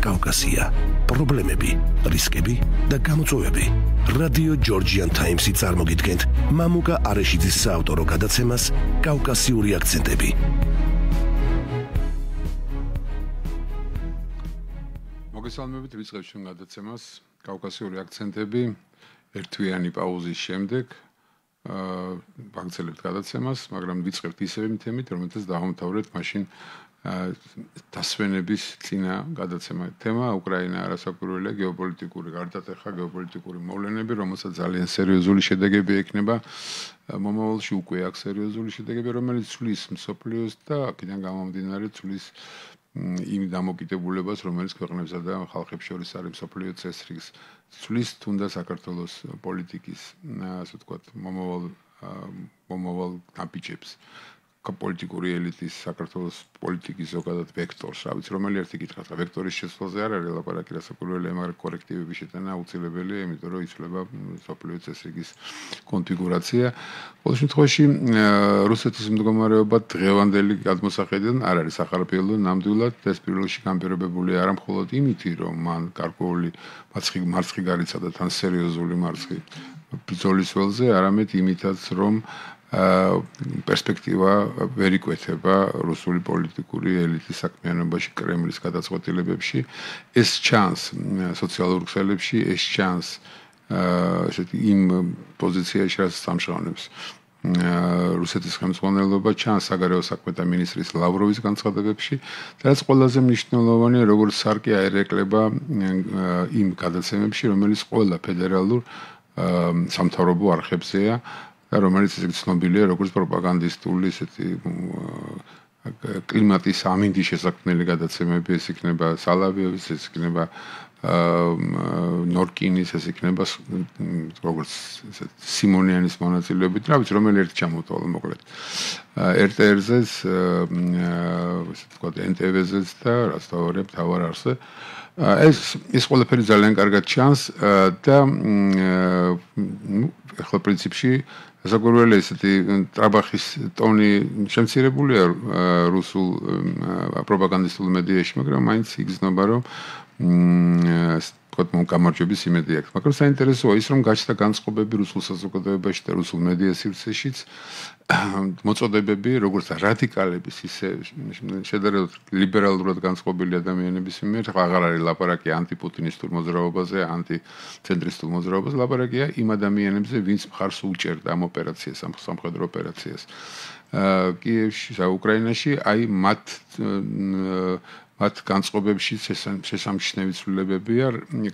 კავკასია, პრობლემები, რისკები და გამოწვევები. რადიო ჯორჯიან ტაიმსი წარმოგიდგენთ მამუკა არეშიძის საავტორო გადაცემას კავკასიური აქცენტები. მოგესალმებით, ვიწყებთ ჩვენ გადაცემას კავკასიური აქცენტები. ერთვიანი პაუზის შემდეგ ვაგრძელებთ გადაცემას, მაგრამ ვიწყებთ ისევ თემით, რომელთაც დავამთავრეთ მაშინ დასვენების წინა გადაცემა. თემა უკრაინა არასაკურველია გეოპოლიტიკური გარდატეხა, გეოპოლიტიკური მოვლენები, რომელსაც ძალიან სერიოზული შედეგები ექნება. მომავალში უკვე აქვს სერიოზული შედეგები, რომელიც ცვლის მსოფლიოს და აქედან გამომდინარე ცვლის იმ დამოკიდებულებას, რომელიც ქვეყნებსა და ხალხებს შორის არის მსოფლიო წესრიგს, ცვლის თუნდაც საქართველოს პოლიტიკის, ასე ვთქვათ, მომავალ ნაბიჯებს. პოლიტიკური ელიტის საქართველოს პოლიტიკის ზოგადად ვექტორს, რა ვიცი, რომელი ერთი კითხვა, ვექტორის შეცვლაზე არ არის ლაპარაკი, რასაკურველია, მაგრამ კორექტივების შეტანა აუცილებელია, იმიტომ რომ იცვლება მსოფლიო წესრიგის კონფიგურაცია. ყოველ შემთხვევაში, რუსეთის მდგომარეობა დღევანდელი გადმოსახედიდან არ არის ახალფილო, ნამდვილად ეს პირველში განპირობებული არა მხოლოდ იმით, რომ მან გარკვეული მარცხი გარიცა და თან სერიოზული მარცხი ბრძოლის ველზე, არამედ იმითაც, რომ პერსპექტივა ვერ იკვეთება რუსული პოლიტიკური ელიტის საქმიანობაში, კრემლის გადაწყვეტილებებში. ეს ჩანს სოციალურ ქსელებში, ეს ჩანს ესეთი იმ პოზიციაში, რაც სამშავნებს რუსეთის ხელმძღვანელობა, ჩანს საგარეო საქმეთა მინისტრის ლავროვის განცხადებებში და რაც ყველაზე მნიშვნელოვანია, როგორც სარკე აერეკლება იმ გადაცემებში, რომელიც ყველა ფედერალურ სამთავრობო არხებზეა და რომელიც ისე ცნობილია როგორც პროპაგანდისტული ესეთი კლიმატის ამინდის შესაქმნელი გადაცემები, ეს იქნება სალავიევის, ეს იქნება ნორკინის, ეს იქნება როგორც სიმონიანის მონაწილეობით, რა ვიცი, რომელი ერთი ჩამოვთვალე მოკლედ. RTR-ზეც, ესე ვთქვათ, NTV-ზეც და რაც თავარია მთავარ არსზე. ეს ყველაფერი ძალიან კარგად ჩანს და ახლა პრინციპში საკურველი ესეთი ტრაბახის ტონი შემცირებულია რუსულ პროპაგანდისტულ მედიაში, მაგრამ მაინც იგრძნობა, რომ თქვათ გამარჯვების იმედი აქვს. მაგრამ საინტერესოა ის, რომ გაჩნდა განწყობები რუსულ საზოგადოებაში და რუსულ მედია სივრცეშიც, მოწოდებები, როგორც რადიკალების, ისე შედარებით ლიბერალურად განწყობილი ადამიანების მიმართ, აღარ არის ლაპარაკი ანტიპუტინისტურ მოძრაობაზე, ანტიცენტრისტულ მოძრაობაზე, ლაპარაკია იმ ადამიანებზე, ვინც მხარს უჭერდა ამ ოპერაციას, ამ სამხედრო ოპერაციას. კიევში, უკრაინაში, აი მათ განწყობებში შესამჩნევი ცვლილებებია,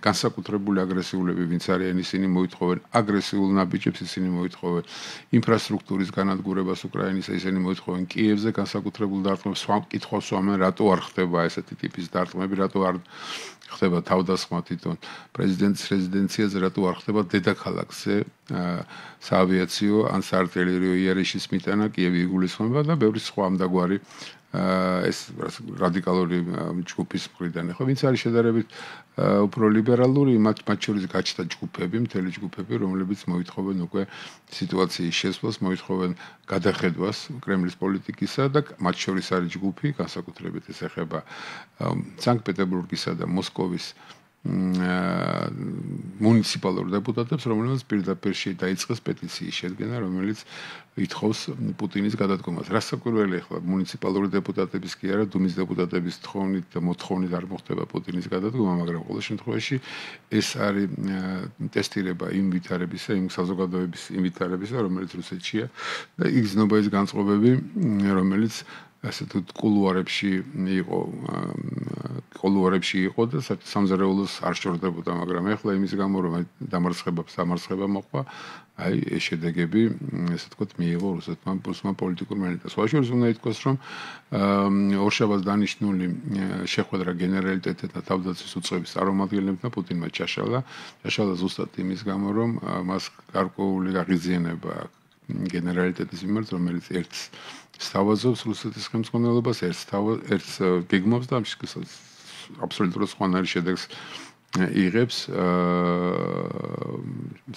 განსაკუთრებული აგრესიულები, ვინც არიან, ისინი მოითხოვენ აგრესიულ ნაბიჯებს, ისინი მოითხოვენ ინფრასტრუქტურის განადგურებას უკრაინის, ისინი მოითხოვენ კიევზე განსაკუთრებულ დარტყმებს, კითხვას უამენ, რატო არ ხდება ესეთი ტიპის დარტყმები, რატო არ ხდება თავდასხმა თვითონ პრეზიდენტის რეზიდენციაზე, რატო არ ხდება დედაქალაქზე საავიაციო ან საარტილერიო იარიშის მიტანა, კიევი იგულისხმება და ბევრი სხვა ამდაგვარი ეს რადიკალური ჯგუფის მხრიდან. ხო, ვინც არის შედარებით უფრო ლიბერალური, მათ შორის გაჩნდა ჯგუფები, მთელი ჯგუფები, რომლებიც მოითხოვენ უკვე სიტუაციის შესვლას, მოითხოვენ გადახედვას კრემლის პოლიტიკისა და მათ შორის არის ჯგუფი, განსაკუთრებით ეს ეხება სანქტ-პეტერბურგისა და მოსკოვის მუნიციპალურ დეპუტატებს, რომლებიც პირდაპირ დაიწყეს პეტიციის შედგენა, რომელიც ითხოვს პუტინის გადადგომას. რასაკურველია ახლა მუნიციპალური დეპუტატების კი არა, დუმის დეპუტატების თხოვნით და მოთხოვნით არ მოხდება პუტინის გადადგომა, მაგრამ ყოველ შემთხვევაში ეს არის ტესტირება იმ ვითარებისა, იმ საზოგადოების იმ ვითარებისა, რომელიც რუსეთშია და იგრძნობა ის განწყობები, რომელიც ასე თუ კულუარებში იყო და სამზარეულოს არ შორდებოდა, მაგრამ ეხლა იმის გამო რომ დამარცხება მოყვა, აი ეს შედეგები, ესე ვთქვათ, მიიღო რუსეთმა პოლიტიკურ ელიტას. შუაშორის უნდა ითქვას, რომ ორშაბათს დანიშნული შეხვედრა გენერალიტეტთან და თავდაცვის უწყების წარმომადგენლებთან პუტინმა ჩაშალა ზუსტად იმის გამო, რომ მას გარკვეული აღიძიანება აქვს გენერალიტეტის მიმართ, რომელიც ერთს სთავაზობს რუსეთის ხელმძღვანელობას, ერთს გეგმავს და აბსოლუტურად სხვანაირ შედეგს იღებს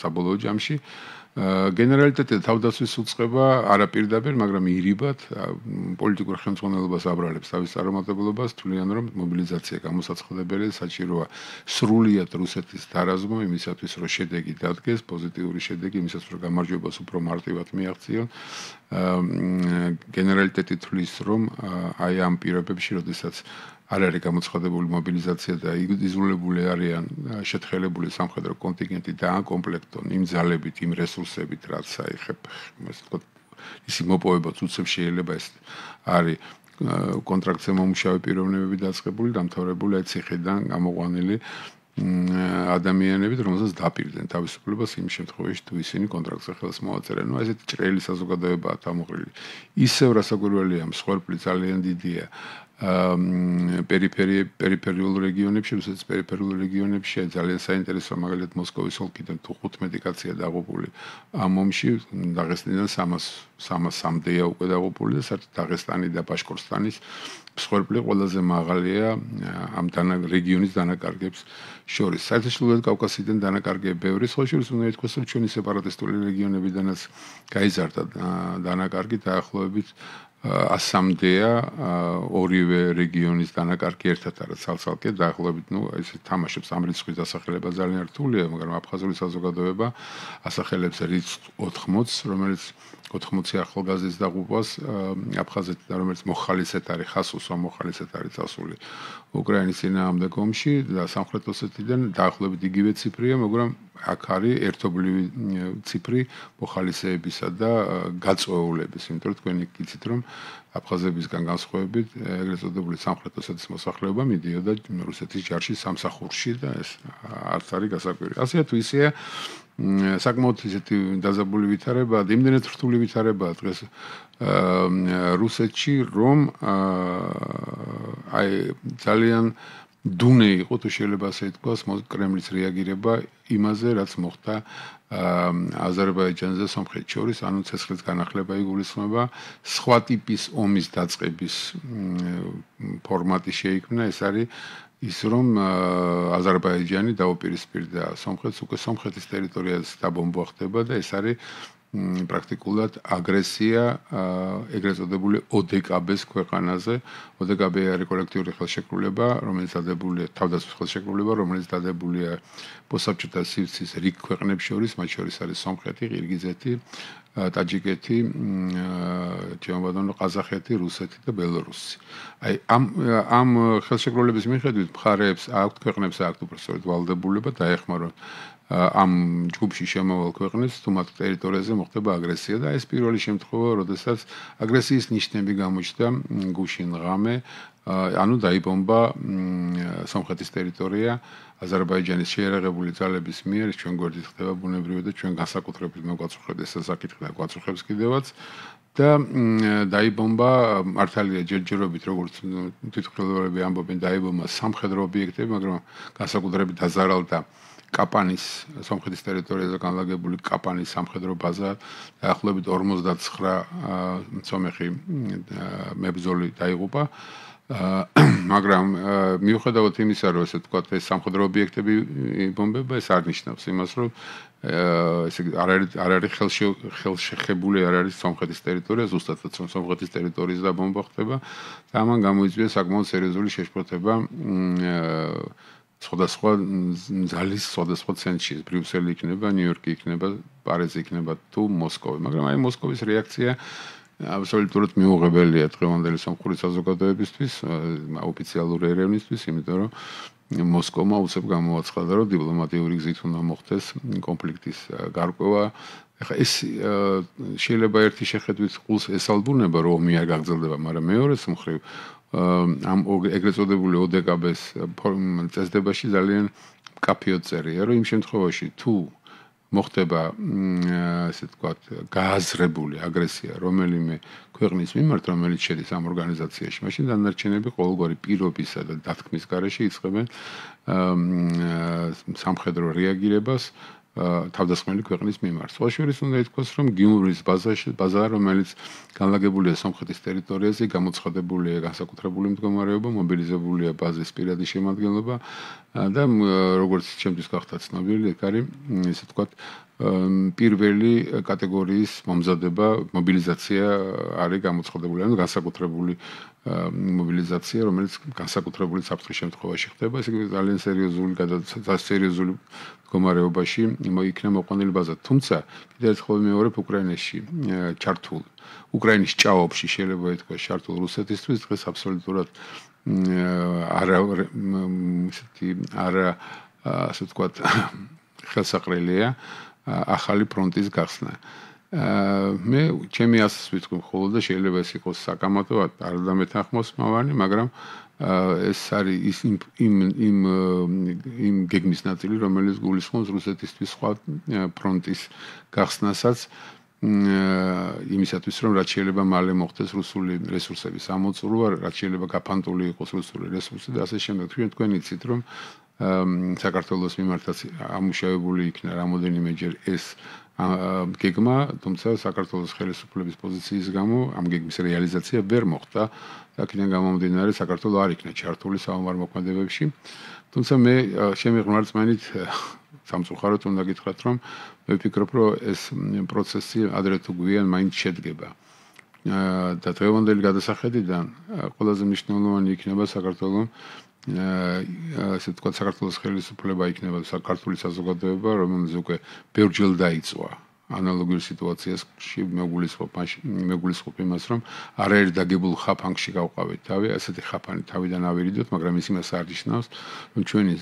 საბოლოო ჯამში გენერალიტეტი თავდაცვის უწყება არაპირდაპირ, მაგრამ ირიბად პოლიტიკურ ხელმძღვანელობას აბრალებს თავის წარუმატებლობას, თვლიან რომ მობილიზაცია გამოსაცხადებელია, საჭიროა სრულიად რუსეთის დარაზმვა იმისათვის, რომ შედეგი დადგეს, პოზიტიური შედეგი იმისათვის, რომ გამარჯვებას უფრო მარტივად მიაღწიონ. გენერალიტეტი თვლის, რომ აი ამ პირობებში, როდესაც არ არის გამოცხადებული მობილიზაცია და იზოლირებული არიან შეთხელებული სამხედრო კონტინგენტი და აკომპლექტონ იმ ძალებით, იმ რესურსებით, რაც აიხებ, ასე ვთქვათ, ისი მოპოვებაც უცებ შეიძლება ეს არის კონტრაქტზე მომუშავე პიროვნებები დაწყებული, დამთავრებული აი ციხიდან გამოყვანილი ადამიანებით, რომელსაც დაპირდნენ თავისუფლებას იმ შემთხვევაში, თუ ისინი კონტრაქტზე ხელს მოაწერენ. ნუ ესეთი ჭრელი საზოგადოებაა თამოყრილი. ისევ რასაკვირველია, მსხვერპლი ძალიან დიდია. პერიფერიულ რეგიონებში, რუსეთის პერიფერიულ რეგიონებში ძალიან საინტერესოა, მაგალითად მოსკოვის ოლქიდან თუ 15 კაცია დაღუპული ამ ომში, დაღესტნიდან 300-მდეა უკვე დაღუპული და საერთოდ დაღესტანი და ბაშკორტოსტანის მსხვერპლი ყველაზე მაღალია ამ რეგიონის დანაკარგებს შორის. საერთაშორისო კავკასიიდან დანაკარგები ბევრი, სხვა შორის უნდა ითქვას, რომ ჩვენი სეპარატისტული რეგიონებიდანაც გაიზარდა დანაკარგი დაახლოებით 100-მდეა ორივე რეგიონის დანაკარგი ერთად არის ცალ-ცალკე დაახლოებით, ეს თამაშობს ამ რიცხვის დასახელება ძალიან რთულია, მაგრამ აფხაზური საზოგადოება ასახელებს რიცხვ 80, რომელიც 80 ახალგაზრდის დაღუპვას აფხაზეთიდან, რომელიც მოხალისედ არის, ხასუსვა მოხალისედ არის წასული უკრაინის წინააღმდეგ ომში და სამხრეთ ოსეთიდან დაახლოებით იგივე ციფრია, მაგრამ აქ არის ერთობლივი ციფრი მოხალისეებისა და გაწვეულების, იმიტომ რომ თქვენი გიცით, რომ აფხაზებისგან განსხვავებით, ეგრეთ წოდებული სამხრეთ ოსეთის მოსახლეობა მიდიოდა რუსეთის ჯარში სამსახურში და ეს არც არის გასაკვირი. ასე თუ ისეა, საკმაოდ ისეთი დაზაბული ვითარებაა, იმდენად რთული ვითარებაა დღეს რუსეთში, რომ აი ძალიან დუნე იყო, თუ შეიძლება ასე ითქვას, კრემლის რეაგირება იმაზე, რაც მოხდა აზერბაიჯანზე სომხეთს შორის, ანუ ცეცხლის განახლება იგულისხმება, სხვა ტიპის ომის დაწყების ფორმატი შეიქმნა, ეს არის ის რომ აზერბაიჯანი დაუპირისპირდა სომხეთს, უკვე სომხეთის ტერიტორიაზე დაბომბვა ხდება და ეს არის პრაქტიკულად აგრესია ეგრეთ წოდებული ODKB-ს ქვეყანაზე. ODKB არის კოლექტიური ხელშეკრულება, რომელიც დადებულია თავდაცვის ხელშეკრულება, რომელიც დადებულია პოსტსაბჭოთა სივრცის რიგ ქვეყნებს შორის, მათ შორის არის სომხეთი, ყირგიზეთი, ტაჯიკეთი, ყაზახეთი, რუსეთი და ბელორუსი. აი ამ ხელშეკრულების მიხედვით მხარეებს აქვთ ქვეყნებს აქვთ უბრალოდ ვალდებულება დაეხმაროთ ამ ჯგუფში შემავალ ქვეყნებს, თუ მათ ტერიტორიაზე მოხდება აგრესია და ეს პირველი შემთხვევა, როდესაც აგრესიის ნიშნები გამოჩნდა გუშინ ღამე, ანუ დაიბომბა სომხეთის ტერიტორია აზერბაიჯანის შეიარაღებული ძალების მიერ, ჩვენ გვერდით ხდება ბუნებრივი და ჩვენ განსაკუთრებით მოგვაწუხებთ ეს საკითხი და გვაწუხებს კიდევაც და დაიბომბა მართალია ჯერჯერობით, როგორც თვითმხილველები ამბობენ, დაიბომბა სამხედრო ობიექტები, მაგრამ განსაკუთრებით დაზარალდა კაპანის სომხეთის ტერიტორიაზე განლაგებული კაპანის სამხედრო ბაზა დაახლოებით 59 სომეხი მებრძოლი დაიღუპა, მაგრამ მიუხედავად იმისა, რომ ესე ვთქვათ, ეს სამხედრო ობიექტები იბომბება, ეს არ ნიშნავს იმას, რომ ესე არ არის ხელშეხებული არ არის სომხეთის ტერიტორია, ზუსტადაც რომ სომხეთის ტერიტორიის დაბომბვა ხდება და ამან გამოიწვია საკმაოდ სერიოზული შეშფოთება სხვადასხვა ძალის სხვადასხვა ცენტრში, ბრიუსელი იქნება, ნიუ-იორკი იქნება, პარიზი იქნება თუ მოსკოვი, მაგრამ აი მოსკოვის რეაქცია აბსოლუტურად მიუღებელია დღევანდელი სომხური საზოგადოებისთვის, ოფიციალური ერევნისთვის, იმიტომ რომ მოსკოვმა უცებ გამოაცხადა, რომ დიპლომატიური გზით უნდა მოხდეს კონფლიქტის გარკვევა. ეხლა ეს შეიძლება ერთი შეხედვით ყულს ესალბუნება, რომ ომი არ გაგრძელდება, მაგრამ მეორეს მხრივ ამ ეგრეთ წოდებული ODKB-ს წესდებაში ძალიან მკაფიოდ წერია, რომ იმ შემთხვევაში თუ მოხდება ასე ვთქვათ გააზრებული აგრესია რომელიმე ქვეყნის მიმართ, რომელიც შედის ამ ორგანიზაციაში, მაშინ დანარჩენები ყოველგვარი პირობისა და დათქმის გარეშე იწყებენ სამხედრო რეაგირებას თავდასხმელი ქვეყნის მიმართ. სხვა შორის უნდა ითქვას, რომ გიუმრის ბაზა, რომელიც განლაგებულია სომხეთის ტერიტორიაზე, გამოცხადებულია განსაკუთრებული მდგომარეობა, მობილიზებულია ბაზის პირადი შემადგენლობა და როგორც ჩემთვის გახდა ცნობილი, ეგ არის, ესე ვთქვათ, პირველი კატეგორიის მომზადება, მობილიზაცია არის გამოცხადებული, ანუ განსაკუთრებული მობილიზაცია, რომელიც განსაკუთრებული საფრთხის შემთხვევაში ხდება, ესე იგი ძალიან სერიოზული მდგომარეობაში იქნა მოყვანილი ბაზა. თუმცა კიდევ ერთხელ ვიმეორებ უკრაინაში ჩართულ უკრაინის ჭაობში შეიძლება ითქვას ჩართულ რუსეთისთვის დღეს აბსოლუტურად ასე ვთქვათ ხელსაყრელია ახალი ფრონტის გახსნა. მე ჩემი ასს ვიტყვი მხოლოდ და შეიძლება ეს იყოს საკამათო, არ დამეთანხმოსმავანი, მაგრამ ეს არის იმ გეგმის ნაწილი, რომელიც გულისხმობს რუსეთისთვის სხვა ფრონტის გახსნასაც იმისათვის, რომ რაც შეიძლება მალე მოხდეს რუსული რესურსების ამოწურვა, რაც შეიძლება გაფანტული იყოს რუსული რესურსი და ასე შემდეგ. თქვენ იცით, რომ საქართველოს მიმართაც ამუშავებული იქნა რამოდენიმეჯერ ეს გეგმა, თუმცა საქართველოს ხელისუფლების პოზიციის გამო ამ გეგმის რეალიზაცია ვერ მოხდა. აქედან გამომდინარე, საქართველო არ იქნა ჩართული საომარ მოქმედებებში. თუმცა მე ჩემი ღმერთმენით სამწუხაროდ უნდა გითხრათ, რომ მე ვფიქრობ, რომ ეს პროცესი ადრე თუ გვიან მაინც შედგება. და დღევანდელი გადასახედიდან ყველაზე მნიშვნელოვანი იქნება საქართველოს ასე ვთქვათ, საქართველოს ხელისუფლება იქნება საქართველოს საზოგადოება, რომელიც უკვე ბევრჯერ დაიწვა ანალოგიურ სიტუაციებში მეგულისხმობ იმას, რომ არაერთ დაგებულ ხაფანგში გავყავით თავი, ასეთი ხაფანი თავიდან ავირიდოთ, მაგრამ ის იმას არ ნიშნავს, რომ ჩვენი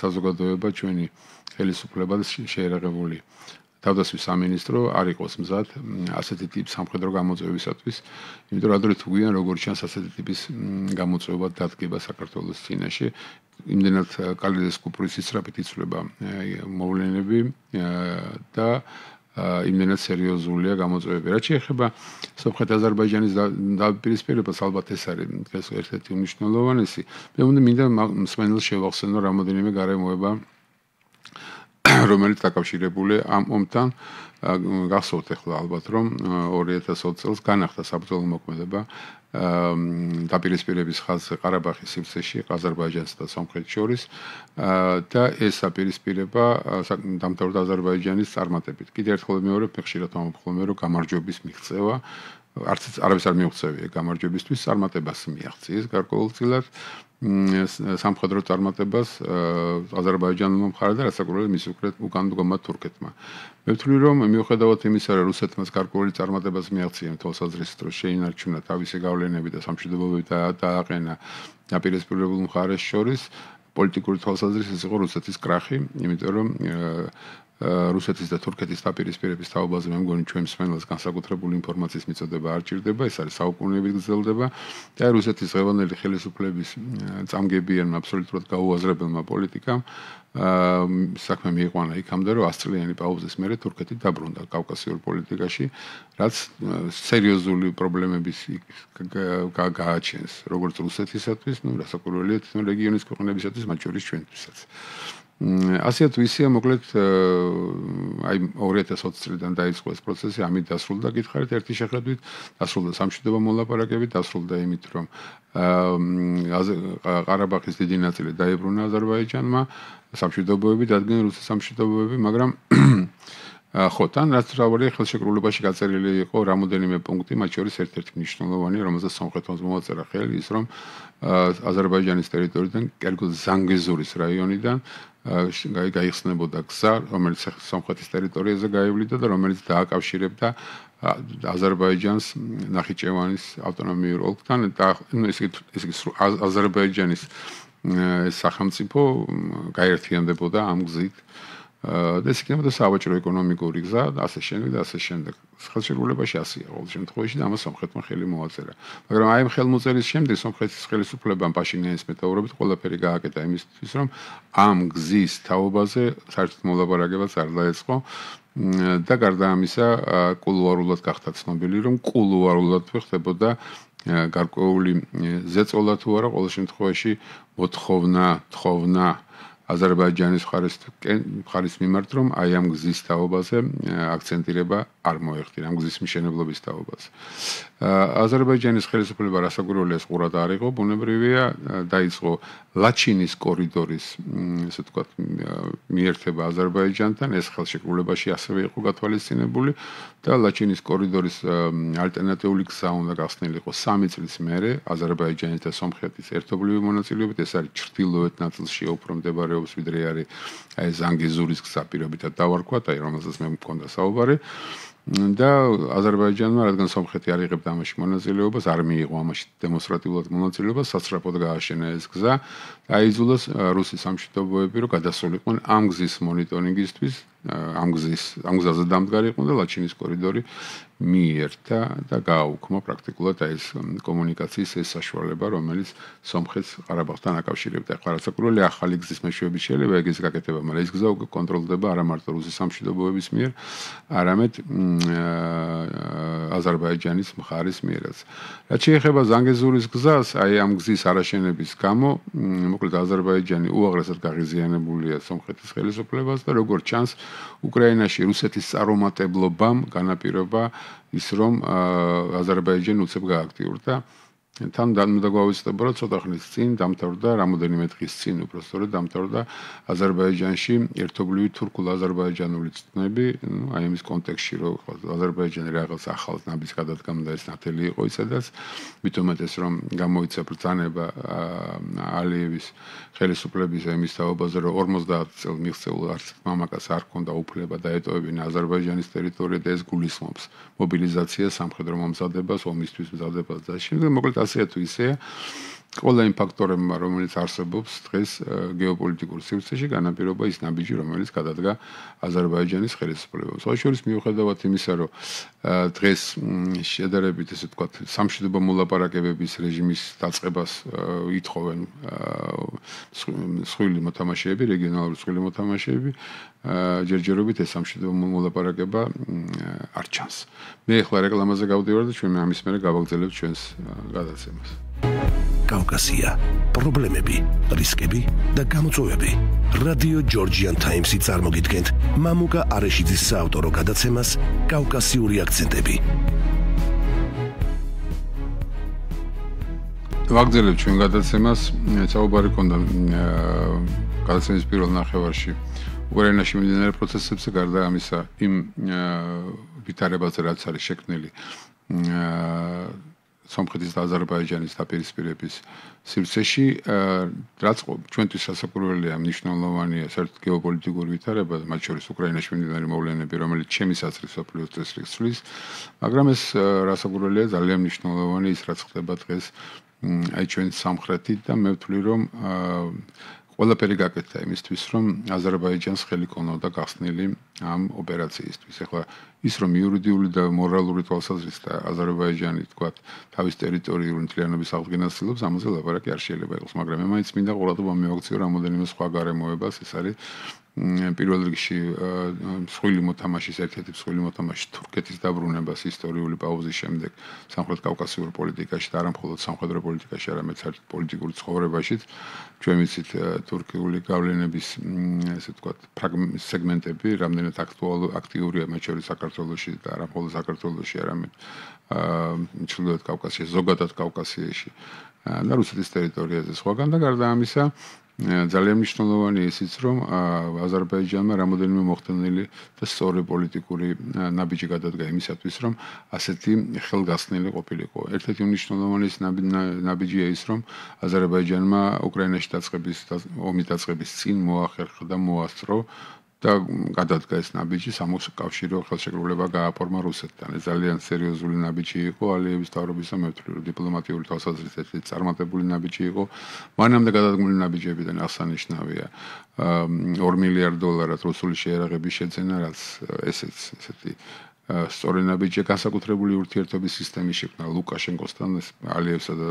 საზოგადოება, ჩვენი ხელისუფლება შეერაღებული თავდასხმის სამინისტრო არ იყოს მზად ასეთი ტიპის სამხედრო გამოწვევისათვის, იმიტომ რომ ადრე თუ გვიან როგორც ჩანს ასეთი ტიპის გამოწვევა დადგება საქართველოს წინაშე, იმდენად კალიდეს კუპრის ისრაფით იცვლება მოვლენები და იმდენად სერიოზულია გამოწვევები. რაც შეეხება სომხეთ-აზერბაიჯანის დაპირისპირებას, ალბათ ეს არის ერთ-ერთი უმნიშვნელოვანესი. მე მინდა მსმენელს შევახსენო რამოდენიმე გარემოება, რომელიც დაკავშირებულია ამ ომთან. გახსოვთ ახლა ალბათ, რომ 2020 წელს განახდა საბრძოლო მოქმედება დაპირისპირების ხაზზე ყარაბაღის სივრცეში აზერბაიჯანსა და სომხეთს შორის და ეს დაპირისპირება დამთავრდა აზერბაიჯანის წარმატებით. კიდევ ერთხელ მეორე ხშირად ვამბობ, რომ გამარჯვების მიღწევა არავის არ მიუღწევია გამარჯვებისთვის, წარმატებას მიაღწიეს გარკვეულწილად სამხედრო წარმატებას აზერბაიჯანულმა მხარემ და რასაკვირველია მის უკან დგომა თურქეთმა. მე ვთვლი, რომ მიუხედავად იმისა, რომ რუსეთმაც გარკვეული წარმატებას მიაღწია თვალსაზრისით, რომ შეინარჩუნა თავისი გავლენები და სამშვიდობოები დააყენა დაპირისპირებულ მხარეს შორის, პოლიტიკური თვალსაზრისით იყო რუსეთის კრახი, იმიტომ რომ რუსეთის და თურქეთის დაპირისპირების თაობაზე მე მგონი ჩვენ მსმენელს განსაკუთრებული ინფორმაციის მიწოდება არ ჭირდება, ეს არის საუკუნეებით გრძელდება და რუსეთის ღევანდელი ხელისუფლების წამგებიანმა აბსოლუტურად გაუაზრებელმა პოლიტიკამ საქმე მიიყვანა იქამდე, რომ 100 წლიანი პაუზის მერე თურქეთი დაბრუნდა კავკასიურ პოლიტიკაში, რაც სერიოზული პრობლემების გააჩენს როგორც რუსეთისათვის, რასაკვირველია თვითონ რეგიონის ქვეყნებისათვის, მათ შორის ჩვენთვისაც. ასე თუ ისეა, მოკლედ აი 2020 წლიდან დაიწყო ეს პროცესი, ამით დასრულდა, გითხარით ერთი შეხედვით, დასრულდა სამშვიდობო მოლაპარაკებით, დასრულდა იმით, რომ ყარაბაღის დიდი ნაწილი დაებრუნა აზერბაიჯანმა, სამშვიდობოები დადგნენ რუსეთის სამშვიდობოები, მაგრამ ხო, თან რაც თავი ხელშეკრულებაში გაწერილი იყო რამოდენიმე პუნქტი, მათ შორის ერთ-ერთი მნიშვნელოვანი, რომელზეც სომხეთმა მოაწერა ხელი, ის რომ აზერბაიჯანის ტერიტორიიდან, კერძოდ ზანგეზურის რაიონიდან გაიხსნებოდა გზა, რომელიც სომხეთის ტერიტორიაზე გაივლიდა და რომელიც დააკავშირებდა აზერბაიჯანს ნახიჩევანის ავტონომიურ ოლქთან და აზერბაიჯანის სახელმწიფო გაერთიანდებოდა ამ გზით. და ეს იქნებოდა სავაჭრო ეკონომიკური გზა და ასე შემდეგ და ასე შემდეგ. ხელშეკრულებაში ასეა ყოველ შემთხვევაში და ამას სომხეთმა ხელი მოაწერა. მაგრამ აი ამ ხელმოწერის შემდეგ სომხეთის ხელისუფლებამ პაშინიანის მეტაურობით ყველაფერი გააკეთა იმისთვის, რომ ამ გზის თაობაზე საერთოდ მოლაპარაკებაც არ დაეწყო და გარდა ამისა კულუარულად გახდა ცნობილი, რომ კულუარულად ხდებოდა გარკვეული ზეწოლა თუ არა, ყოველ შემთხვევაში მოთხოვნა აზერბაიჯანის მხარის მიმართ, რომ აი ამ გზის თაობაზე აქცენტირება არ მოეხდინა, ამ გზის მშენებლობის თაობაზე. აზერბაიჯანის ხელისუფლება რასაკვირველია ყურად არ იყო, ბუნებრივია, დაიწყო ლაჩინის კორიდორის, ესე ვთქვათ, მიერთება აზერბაიჯანთან, ეს ხელშეკრულებაში ასევე იყო გათვალისწინებული და ლაჩინის კორიდორის ალტერნატიული გზა უნდა გახსნილიყო 3 წლის მერე აზერბაიჯანის და სომხეთის ერთობლივი მონაწილეობით, ეს არის ჩრდილოეთ ნაწილში უფრო მდებარეობს, ვიდრე არის აი ზანგეზურის გზა პირობითად დავარქვათ, აი რომელსაც მე მქონდა საუბარი. და აზერბაიჯანმა, რადგან სომხეთი არ იღებდა ამაში მონაწილეობას, არ მიიღო ამაში დემონსტრატიულად მონაწილეობას, სასწრაფოდ გააშენა ეს გზა და აიძულეს რუსი სამშვიდობოები, რომ გადასულიყვნენ ამ გზის მონიტორინგისთვის, ამ გზაზე დამდგარიყო და ლაჩინის კორიდორი მიიერთა და გააუქმა პრაქტიკულად ეს კომუნიკაციის ეს საშუალება, რომელიც სომხეთს ყარაბაღთან აკავშირებდა. ახლა რასაკვირველია, ახალი გზის მეშვეობით შეიძლება ეგეც გაკეთება, მაგრამ ეს გზა უკვე კონტროლდება არა მარტო რუსის სამშვიდობოების მიერ, არამედ აზერბაიჯანის მხარის მიერაც. რაც შეეხება ზანგეზურის გზას, აი ამ გზის არაშენების გამო, მოკლედ აზერბაიჯანი უაღრესად გაღიზიანებულია სომხეთის ხელისუფლებას და როგორც ჩანს, უკრაინაში რუსეთის წარუმატებლობამ განაპირობა ის რომ აზერბაიჯანი უცებ გააქტიურდა. თან უნდა გვავიწყდება, რომ ცოტა ხნის წინ დამთავრდა, რამოდენიმე დღის წინ უბრალოდ დამთავრდა აზერბაიჯანში ერთობლივი თურქულ-აზერბაიჯანული წნები, აი ამის კონტექსტში, რომ აზერბაიჯანი რაღაც ახალ ნაბიჯს გადადგამდა, ეს ნათელი იყო ისედაც, მithumetes რომ გამოიცა ბრძანება ალიევის ხელისუფლების იმის თაობაზე, რომ 50 წელს მიღწეულ არც მამაკაც არ ჰქონდა უფლება დაეტოვებინა აზერბაიჯანის ტერიტორია და ეს გულისხმობს მობილიზაციას, სამხედრო მომზადებას, ომისთვის მზადებას და შემდეგ მოკლედ ასე თუ ისეა ყველა იმ ფაქტორებმა, რომელიც არსებობს დღეს გეოპოლიტიკურ სივრცეში, განაპირობა ის ნაბიჯი, რომელიც გადადგა აზერბაიჯანის ხელისუფლებას. ოშორის მიუხედავად იმისა, რომ დღეს შედარებით, ესე ვთქვათ, სამშვიდობო მოლაპარაკებების რეჟიმის დაწყებას ითხოვენ მსხვილი მოთამაშეები, რეგიონალური მსხვილი მოთამაშეები, ჯერჯერობით ეს სამშვიდობო მოლაპარაკება არ ჩანს. მე ახლა რეკლამაზე გავდივარ და ჩვენ ამის მერე გავაგრძელებთ ჩვენს გადაცემას. კავკასია, პრობლემები, რისკები და გამოწვევები. რადიო ჯორჯიან ტაიმსი წარმოგიდგენთ მამუკა არეშიძის საავტორო გადაცემას კავკასიური აქცენტები. ვაგრძელებთ ჩვენ გადაცემას, საუბარი ქონდა გადაცემის პირველ ნახევარში უკრაინაში მიმდინარე პროცესებზე, გარდა ამისა იმ ვითარებაზე, რაც არის შექმნილი სომხეთის და აზერბაიჯანის დაპირისპირების სივრცეში, რაც ჩვენთვის სასაკვირველია, მნიშვნელოვანია საერთოდ გეოპოლიტიკური ვითარება, მათ შორის უკრაინაში მიმდინარე მოვლენები, რომელიც ჩემის აზრით მსოფლიოს წესრიგს ცვლის, მაგრამ ეს რასაკვირველია, ძალიან მნიშვნელოვანი ის, რაც ხდება დღეს აი ჩვენ სამხრეთით და მე ვთვლი, რომ ყველაფერი გაკეთდა იმისთვის, რომ აზერბაიჯანს ხელი ქონოდა გახსნილი ამ ოპერაციისთვის. ახლა ის რომ იურიდიული და მორალური თვალსაზრისით აზერბაიჯანი თქვა თავის ტერიტორიული მთლიანობის აღდგენას ცდილობს, ამაზე ლაპარაკი არ შეიძლება იყოს, მაგრამ მე მაინც მინდა ყურადღება მივაქციო რამოდენიმე სხვა გარემოებას, ეს არის პირველ რიგში მსხვილი მოთამაშის ერთ-ერთი მსხვილი მოთამაშის თურქეთის დაბრუნებას ისტორიული პაუზის შემდეგ სამხრეთ კავკასიურ პოლიტიკაში და არა მხოლოდ სამხედრო პოლიტიკაში, არამედ საერთოდ პოლიტიკურ ცხოვრებაშიც. ჩვენ ვიცით თურქიული გავლენების ესე ვთქვათ სეგმენტები რამდენად აქტიურია მათ შორის საქართველოში და არა მხოლოდ საქართველოში, არამედ ჩრდილოეთ კავკასიაში, ზოგადად კავკასიაში და რუსეთის ტერიტორიაზე. სხვაგან და გარდა ამისა ძალიან მნიშვნელოვანია ისიც, რომ აზერბაიჯანმა რამოდენიმე მოხდენილი და სწორი პოლიტიკური ნაბიჯი გადადგა იმისათვის, რომ ასეთი ხელგასხნილი ყოფილიყო. ერთ-ერთი მნიშვნელოვანი ნაბიჯია ის, რომ აზერბაიჯანმა უკრაინაში ომის დაწყების წინ მოახერხა და მოასწრო და გადადგა ეს ნაბიჯი სამოუკავშირო ხელშეკრულება გააფორმა რუსეთთან. ეს ძალიან სერიოზული ნაბიჯი იყო ალიევის თავრობის და მე ვთვლი, რომ დიპლომატიური თვალსაზრისით ეს წარმატებული ნაბიჯი იყო. მანამდე გადადგმული ნაბიჯებიდან აღსანიშნავია $2 მილიარდ რუსული შეერაღების შეძენა, რაც ესეც ესეთი სწორი ნაბიჯია, განსაკუთრებული ურთიერთობის სისტემის შექმნა ლუკაშენკოსთან, ალიევსა და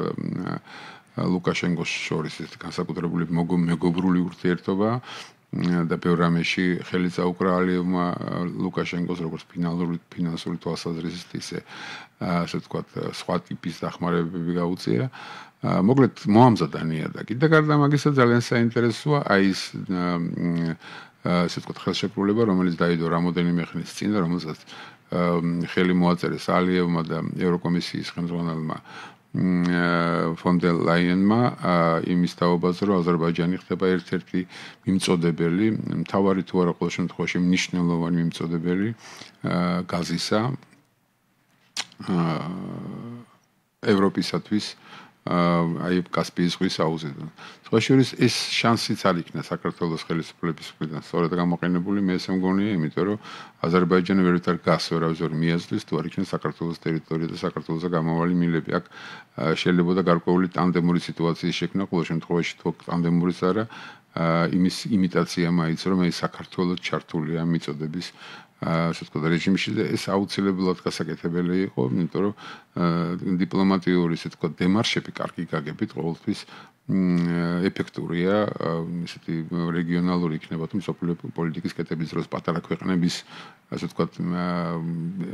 ლუკაშენკოს შორის ეს განსაკუთრებული მეგობრული ურთიერთობა და ბევრ რამეში ხელი წაუკრა ალიევმა ლუკაშენკოს როგორც ფინანსური თვალსაზრისით ისე ასე ვთქვათ სხვა ტიპის დახმარებები გაუწია. მოკლედ მოამზადა ნიადაგი და გარდა მაგისა ძალიან საინტერესოა აი ეს ასე ვთქვათ ხელშეკრულება რომელიც დაიდო რამოდენიმე ხნის წინ და რომელსაც ხელი მოაწერეს ალიევმა და ევროკომისიის ხელმძღვანელმა von der Leyen-მა იმის თაობაზე რომ აზერბაიჯანი ხდება ერთ-ერთი მიმწოდებელი, მთავარი თუ არა ყოველ შემთხვევაში მნიშვნელოვანი მიმწოდებელი გაზისა ევროპისათვის აი კასპიის ზღვის აუზიდან. სხვა შორის ეს შანსიც არ იქნა საქართველოს ხელისუფლების მხრიდან სწორედ გამოყენებული, მე ესე მგონია, იმიტომ რომ აზერბაიჯანი ვერითარ გას ვერავის ვერ მიაზრდის, თუ არ იქნა საქართველოს ტერიტორია და საქართველოსა გამავალი მილები. აქ შეიძლება გარკვეული ტანდემური სიტუაციის შექმნა, ყოველ შემთხვევაში თუ ტანდემურის არა, იმის იმიტაცია მაიც რომ ეს საქართველოს ჩართულია მიწოდების ასე ვთქვათ რეჟიმში და ეს აუცილებლად გასაკეთებელი იყო, იმიტომ რომ დიპლომატიური ასე ვთქვათ დემარშები კარგი გაგებით ყოველთვის ეფექტურია ისეთი რეგიონალური იქნება თუ მსოფლიო პოლიტიკის კეთების დროს პატარა ქვეყნების ასე ვთქვათ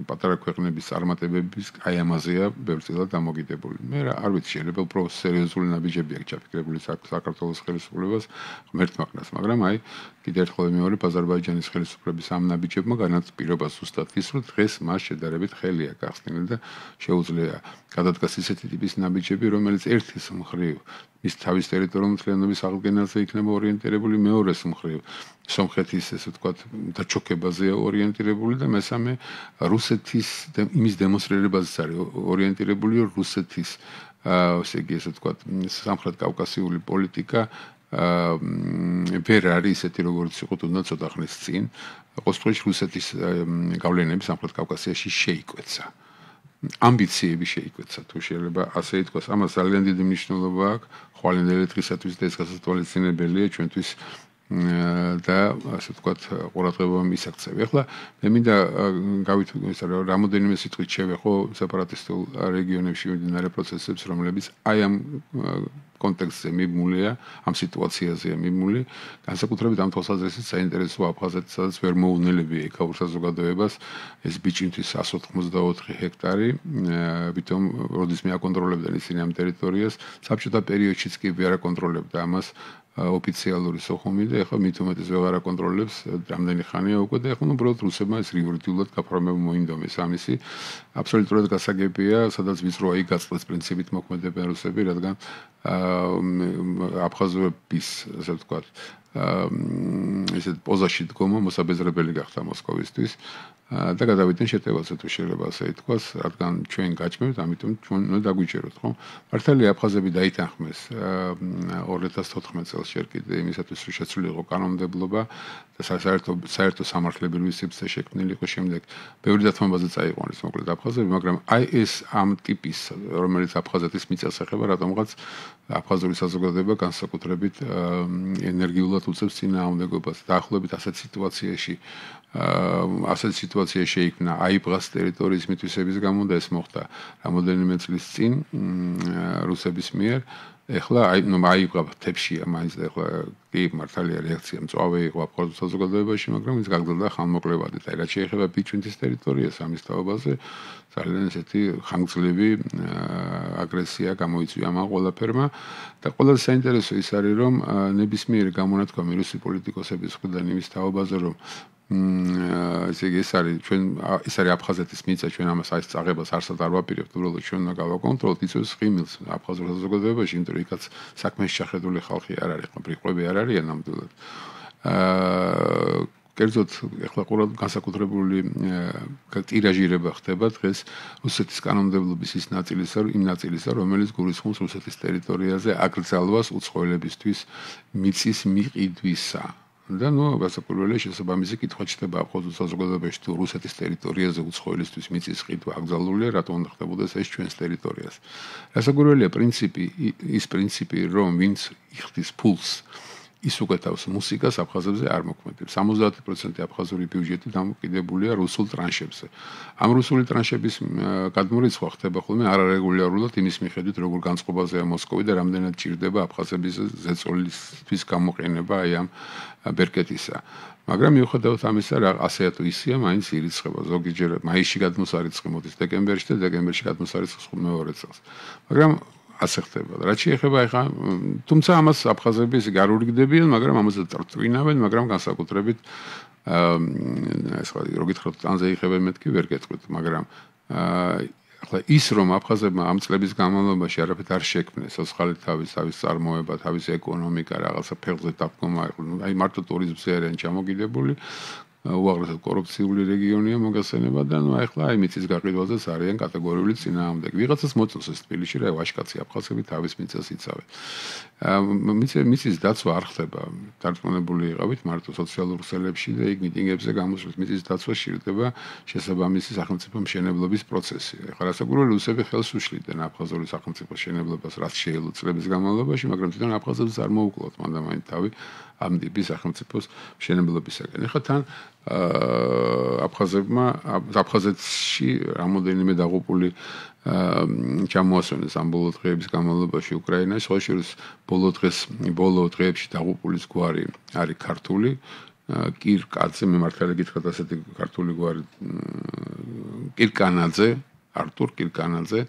პატარა ქვეყნების წარმატებების აი ამაზეა ბევრწილად დამოკიდებული. მე არ ვიცი შეიძლება უფრო სერიოზული ნაბიჯები აქვს ჩაფიქრებული საქართველოს ხელისუფლებას ღმერთმაგნას, მაგრამ აი კიდევ ერთხელ მეორე აზერბაიჯანის ხელისუფლების ამ ნაბიჯებმა განაპირობა ზუსტად ის რომ დღეს მას შედარებით ხელი აქვს ახსნილი და შეუძლია გადადგას ისეთი ტიპის ნაბიჯები რომელიც ერთის მხრივ ის თავის ტერიტორიულ მთლიანობის აღდგენაზე იქნება ორიენტირებული, მეორეს მხრივ სომხეთის ესე ვთქვათ დაჩოქებაზეა ორიენტირებული და მესამე რუსეთის იმის დემონსტრირებაზეც არის ორიენტირებული რუსეთის ესე იგი ესე ვთქვათ სამხრეთ კავკასიული პოლიტიკა ვერ არის ისეთი როგორც იყო თუნდაც ცოტა ხნის წინ ყოველთვის რუსეთის გავლენები სამხრეთ კავკასიაში შეიკვეცა ამბიციები შეიკვეცა თუ შეიძლება ასე ითქვას ამას ძალიან დიდი მნიშვნელობა აქვს ხვალინდელი დღისათვის და ეს გასათვალისწინებელია ჩვენთვის და ასე ვთქვათ ყურადღება მისაქცევი. ახლა მე მინდა გავითვალისწინოთ ისე რომ რამოდენიმე სიტყვით შევეხო სეპარატისტულ რეგიონებში მიმდინარე პროცესებს რომლებიც აი ამ კონტექსტზე მიმულია, ამ სიტუაციაზეა მიმული, განსაკუთრებით ამ თვალსაზრისით საინტერესოა აფხაზეთი, სადაც ვერ მოუნელებია იქაურ საზოგადოებას ეს ბიჭინთვის 184 ჰექტარი, ვითომ როდის მე აკონტროლებდნენ ისინი ამ ტერიტორიას, საბჭოთა პერიოდშიც კი ვერ აკონტროლებდა ამას ოფიციალური სოხუმი და ეხლა მით უმეტეს ვეღარ აკონტროლებს რამდენი ხანია უკვე და ეხლა უბრალოდ რუსებმა ეს რიგურიტულად გაფორმება მოინდომეს ამისი აბსოლუტურად გასაგებია სადაც ვიწროა იქ გაწყვეტს პრინციპით მოქმედებენ რუსები რადგან აფხაზების ასე ვთქვათ ესეთ პოზაში დგომა მოსაბეზრებელი გახდა მოსკოვისთვის და გადავიდნენ შეტევაზე თუ შეიძლება ასე ითქვას, რადგან ჩვენ გაჭმევთ, ამიტომ ჩვენ უნდა დაგვიჭეროთ, ხო? მართალია აფხაზები დაითანხმეს 2014 წელს ჯერ კიდე იმისათვის რომ შეცვლილიყო კანონმდებლობა და საერთო სამართლებრივი სივრცე შექმნილი იყო შემდეგ ბევრი დათმობაზე წაიყვანეს მოკლედ აფხაზები, მაგრამ აი ეს ამ ტიპის რომელიც აფხაზეთის მიწას ეხება, რატომღაც აფხაზური საზოგადოება განსაკუთრებით ენერგიულად უწევს წინააღმდეგობას დაახლოებით ასეთ სიტუაციაში ასეთ სიტუაცია შეიქმნა აიბღას ტერიტორიის მითვისების გამო და ეს მოხდა რამოდენიმე წლის წინ რუსების მიერ ეხლა აიბღა თებშია მაინც და ეხლა კი მართალია რეაქცია მწვავე იყო აფხაზურ საზოგადოებაში მაგრამ ის გაგრძელდა ხანმოკლევადით აი რაც შეეხება ბიჭვინთის ტერიტორიას ამის თაობაზე ძალიან ესეთი ხანგრძლივი აგრესია გამოიწვია ამ ყველაფერმა და ყველაზე საინტერესო ის არის რომ ნებისმიერი გამონათქვამი რუსი პოლიტიკოსების მხრიდან იმის თაობაზე რომ ესე იგი ეს არის აფხაზეთის მიწა ჩვენ ამას აი წაღებას არსად არ ვაპირებთ უბრალოდ ჩვენ უნდა გავაკონტროლოთ იწვევს ხიმილს აფხაზურ საზოგადოებაში იმიტომ რომ იქაც საქმეში შეხედული ხალხი არ არის ბრიყვები არ არიან ნამდვილად კერძოდ ეხლა ყურად განსაკუთრებული ტირაჟირება ხდება დღეს რუსეთის კანონმდებლობის ის ნაწილისა რომელიც გულისხმობს რუსეთის ტერიტორიაზე აკრძალვას უცხოელებისთვის მიწის მიყიდვისა და გასაკურველი შესაბამისი კითხვა ჩდება აფხაზურ საზოგადოებაში თუ რუსეთის ტერიტორიაზე უცხოელისთვის მიწის ყიდვა აკრძალულია, რატომ უნდა ხდებოდეს ეს ჩვენს ტერიტორიაზე. გასაკურველია პრინციპი რომ ვინც იხდის ფულს ის უკეთავს მუსიკას აფხაზებზე არ მოქმედებს. 70% აფხაზური ბიუჯეტი დამოკიდებულია რუსულ ტრანშებზე. ამ რუსული ტრანშების გადმორიცხვა ხდება ხოლმე არარეგულარულად იმის მიხედვით, როგორ განწყობაზეა მოსკოვი და რამდენად ჭირდება აფხაზების ზეწოლისთვის გამოყენება აი ამ ბერკეტისა. მაგრამ მიუხედავად ამისა, ასე თუ ისია, მაინც ირიცხება. ზოგიჯერ მაისში გადმოსარიცხი მოდის დეკემბერში და დეკემბერში გადმოსარიცხს მეორე წელს. მაგრამ ასე ხდება. რაც შეეხება ახლა, თუმცა ამას აფხაზები ისე გარურიგდებიან, მაგრამ ამაზე წვინავენ, მაგრამ განსაკუთრებით ეს ხო რო გითხრათ, წანზე იხებენ მეთქი ვერ გეტყვით, მაგრამ ახლა ის რომ აფხაზებმა ამ წლების განმავლობაში არაფერ არ შექმნეს, სოციალური თავის წარმოება, თავის ეკონომიკა, რაღაცა ფეხზე დადგომა, აი მარტო ტურიზმზე არიან ჩამოგიდებული, უაღრესად კორუფციული რეგიონია მოგხსენება და ნუ ახლა აი მიწის გაყიდვაზეც არიან კატეგორიული წინააღმდეგი. ვიღაცას მოწონს ეს თბილისში რა ვაშკაცი აფხაზები თავის მიწას იცავენ. მიწის დაცვა არ ხდება. დარწმუნებული იყავით მარტო სოციალურ ქსელებში და იქ მიტინგებზე გამოსვლით მიწის დაცვა შეიძლება შესაბამისი სახელმწიფო მშენებლობის პროცესი. ახლა რასაკვირველია რუსები ხელს უშლიდნენ აფხაზური სახელმწიფო მშენებლობას რაც შეიძლება წლების განმავლობაში, მაგრამ თვითონ აფხაზებს არ მოუკლოთ მანდამაინც თავი ამ ტიპის სახელმწიფოს მშენებლობისაგან. ახლა თან აფხაზეთში რამოდენიმე დაღუპული ჩამოასვენეს ამ ბოლო დღეების განმავლობაში უკრაინაში, ხოლო ბოლო დღეებში დაღუპულის გვარი არის ქართული, კირკაძე, მე მართალი გითხრათ ასეთი ქართული გვარი კირკანაძე, არტურ კირკანაძე,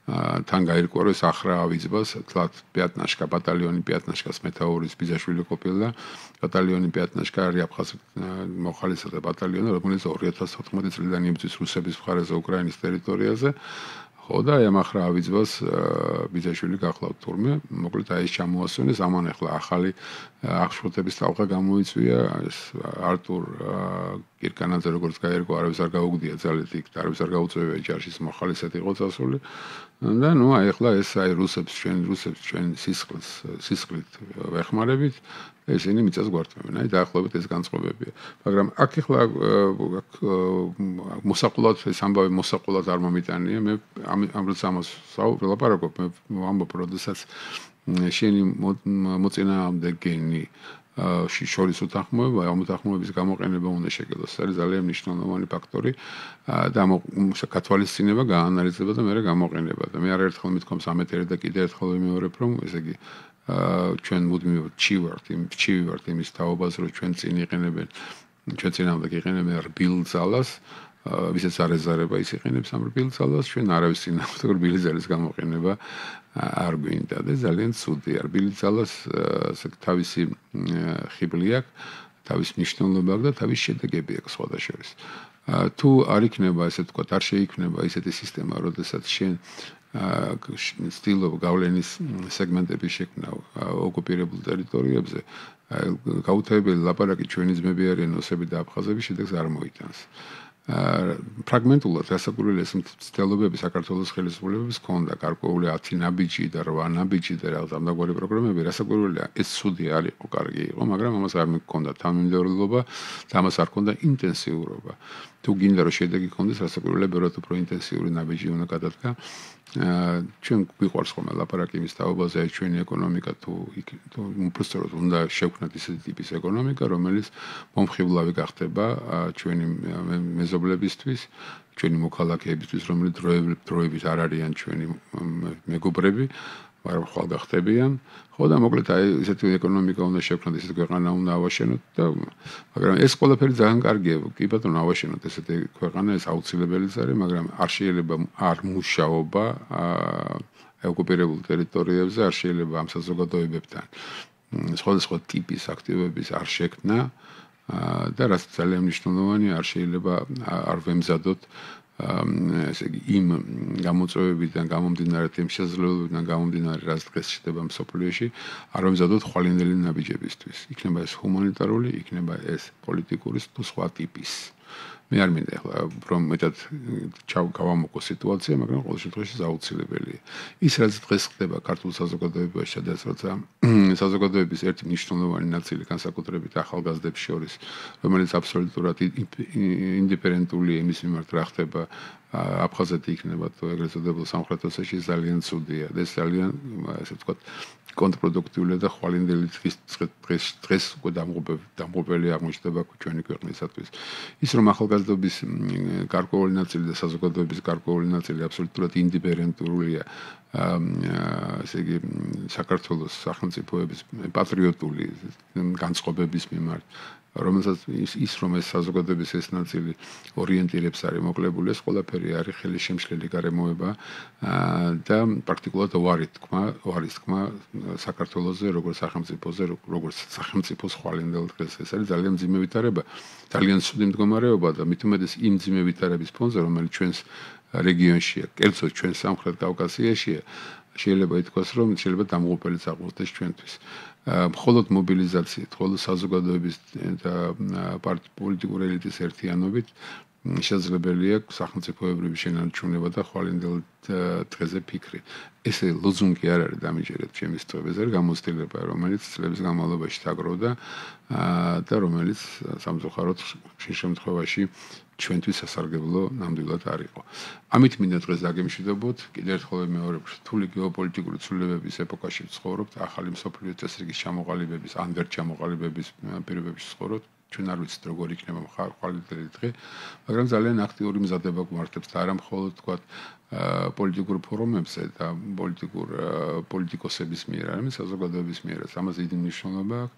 თან გაირკვევეს ახრაავიძბას, თლათ პიატნაშკა, ბატალიონი პიატნაშკას მეთაურის ბიძაშვილი ყოფილა, ბატალიონი პიატნაშკა არის აფხაზ მოხალისეთა ბატალიონი, რომელიც 2014 წლიდან იბრძვის რუსების მხარეზე უკრაინის ტერიტორიაზე. ხო და ამ ახრაავიძბას ბიძაშვილი გახლავთ თურმე, მოკლედ აი ეს ჩამოასვენეს, ამან ახლა ახალი აღშფოთების ტალღა გამოიწვია, ეს არტურ კირკანაძე როგორც გაერკვა, არავის არ გაუგდია ძალით იქ და არავის არ გაუწევია ჯარშის მოხალისედ იყო წასული. და ნუ აი ახლა ეს აი რუსებს ჩვენ სისხლით ვეხმარებით, ესენი მიწას გვართმევენ, აი დაახლოებით ეს განწყობებია. მაგრამ აქ ახლა მოსაყულად ეს ამბავი მოსაყულად არ მომიტანია, მე ამრაც ამას ვლაპარაკობ, მე ვამბობ, როდესაც შენი მოწინააღმდეგენი შორის უთანხმოება, ამ უთანხმოების გამოყენება უნდა შეგელოს. ეს არის ძალიან მნიშვნელოვანი ფაქტორი და გათვალისწინება, გაანალიზება და მეორე გამოყენება. და მე არაერთხელ მithქვამს ამეთერე და კიდევ ერთხელ ვიმეორებ, რომ ესე იგი ჩვენ მუდმივად ჩივი ვართ იმის თაობაზე, რომ ჩვენ წინააღმდეგ იყენებენ რბილ ძალას, ვისაც არ ეზარება ის იყენებს ამ რბილ ძალას, ჩვენ არავის წინააღმდეგ რბილი ძალის გამოყენება არ გვინდა და ძალიან ცუდია. რბილი ძალას თავისი ხიბლი აქვს, თავის მნიშვნელობა აქვს და თავის შედეგები აქვს სხვადასხვა. თუ არ იქნება, ესე ვთქვათ, არ შეიქმნება ისეთი სისტემა, როდესაც შენ ცდილობ გავლენის სეგმენტების შექმნა ოკუპირებულ ტერიტორიებზე, გაუთავებელი ლაპარაკი ჩვენი ძმები არიან ოსები და აფხაზები, შედეგს არ მოიტანს. ფრაგმენტულად რასაკვირველია მცდელობები საქართველოს ხელისუფლებების ჰქონდა გარკვეული 10 ნაბიჯი და 8 ნაბიჯი და რაღაც ამგვარი პროგრამები, რასაკვირველია ეს ცუდი არ იყო, კარგი იყო, მაგრამ ამას არ მქონდა თანმიმდევრულობა და ამას არ ქონდა ინტენსიურობა. თუ გინდა რომ შედეგი ქონდეს, რასაკვირველია ბევრად უფრო ინტენსიური ნაბიჯი უნდა გადადგა. ჩვენ გვიყვარს ხოლმე ლაპარაკი იმის თაობაზე, აი ჩვენი ეკონომიკა თუ უბრალოდ უნდა შევქმნათ ისეთი ტიპის ეკონომიკა, რომელიც მომხიბლავი გახდება ჩვენი მეზობლებისთვის, ჩვენი მოქალაქეებისთვის, რომლებიც დროებით არ არიან ჩვენი მეგობრები, მაგრამ ხვალ გახდებიან. ხო და მოკლედ აი ესეთი ეკონომიკა უნდა შევქმნათ, ესეთი ქვეყანა უნდა ავაშენოთ და მაგრამ ეს ყველაფერი ძალიან კარგია. კი ბატონო, ავაშენოთ ესეთი ქვეყანა, ეს აუცილებელიც არის, მაგრამ არ შეიძლება არ მუშაობა ოკუპირებულ ტერიტორიებზე, არ შეიძლება ამ საზოგადოებებთან სხვადასხვა ტიპის აქტივობების არ შექმნა და რაც ძალიან მნიშვნელოვანია, არ შეიძლება არ ვემზადოთ ესე იგი იმ გამოწვევებიდან გამომდინარე, იმ შესაძლებლობებიდან გამომდინარე, რაც დღეს ხდება მსოფლიოში, არ ვემზადოთ ხვალინდელი ნაბიჯებისთვის. იქნება ეს ჰუმანიტარული, იქნება ეს პოლიტიკური თუ სხვა ტიპის. მე არ მინდა ახლა რომ მეტად გავამოყო სიტუაცია, მაგრამ ყოველ შემთხვევაში აუცილებელია. ის რაც დღეს ხდება ქართულ საზოგადოებაში, სადაც როცა საზოგადოების ერთი მნიშვნელოვანი ნაწილი განსაკუთრებით ახალგაზრდებს შორის, რომელიც აბსოლუტურად ინდიფერენტულია იმის მიმართ, რა ხდება აფხაზეთი იქნება თუ ეგრეთ წოდებულ სამხრეთ ოსეთში, ძალიან ცუდია. ეს ძალიან, ასე ვთქვათ, კონტრპროდუქტიულია და ხვალინდელი დღეს უკვე დამღუპელი აღმოჩნდება ჩვენი ქვეყნისათვის. ის რომ ახალგაზრდობის გარკვეული ნაწილი და საზოგადოების გარკვეული ნაწილი აბსოლუტურად ინდიფერენტურია ესე იგი საქართველოს სახელმწიფოების პატრიოტული განწყობების მიმართ რომელსაც ის რომ ეს საზოგადოების ეს ნაწილი ორიენტირებს არის მოკლებული ეს ყველაფერი არის ხელისშემშლელი გარემოება და პრაქტიკულად უარის თქმა საქართველოსზე როგორც სახელმწიფოზე როგორც სახელმწიფოს ხვალინდელ დღეს ეს არის ძალიან მძიმე ვითარება ძალიან ცუდი მდგომარეობა და მით უმეტეს იმ მძიმე ვითარების ფონზე რომელიც ჩვენს რეგიონშია კერძოდ ჩვენ სამხრეთ კავკასიაშია შეიძლება ითქვას რომ შეიძლება დამღუპელიც აღმოჩნდეს ჩვენთვის მხოლოდ მობილიზაციით, მხოლოდ საზოგადოების და პოლიტიკური ელიტის ერთიანობით შესაძლებელია სახელმწიფოებრივი შენარჩუნება და ხვალინდელ დღეზე ფიქრი. ესე ლოზუნგი არ არის დამიჯერეთ ჩემი სწორების არ გამოცდილება, რომელიც წლების განმავლობაში დაგროვდა და რომელიც სამწუხაროდ ხშირ შემთხვევაში ჩვენთვის სასარგებლო ნამდვილად არ იყო. ამით მინდა დღეს დაგემშვიდობოთ, კიდევ ერთხელ ვიმეორებ, რთული გეოპოლიტიკური ცვლილებების ეპოქაში ვცხოვრობთ, ახალი მსოფლიო წესრიგის ჩამოყალიბების, ან ვერ ჩამოყალიბების პირობებში ვცხოვრობთ. ჩვენ არ ვიცით როგორ იქნება ხვალინდელი დღე, მაგრამ ძალიან აქტიური მზადება გვმართებს და არა მხოლოდ თქვა პოლიტიკურ ფორუმებზე და პოლიტიკოსების მიერ, არამედ საზოგადოების მიერაც. ამაზე დიდი მნიშვნელობა აქვს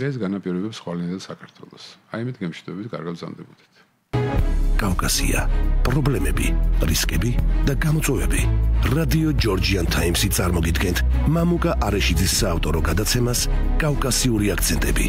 და ეს განაპირობებს ხვალინდელ საქართველოს. აი ამით გემშვიდობით, კარგად ვზამდებოდეთ. კავკასია, პრობლემები, რისკები და გამოწვევები. რადიო ჯორჯიან ტაიმსი წარმოგიდგენთ მამუკა არეშიძის საავტორო გადაცემას კავკასიური აქცენტები.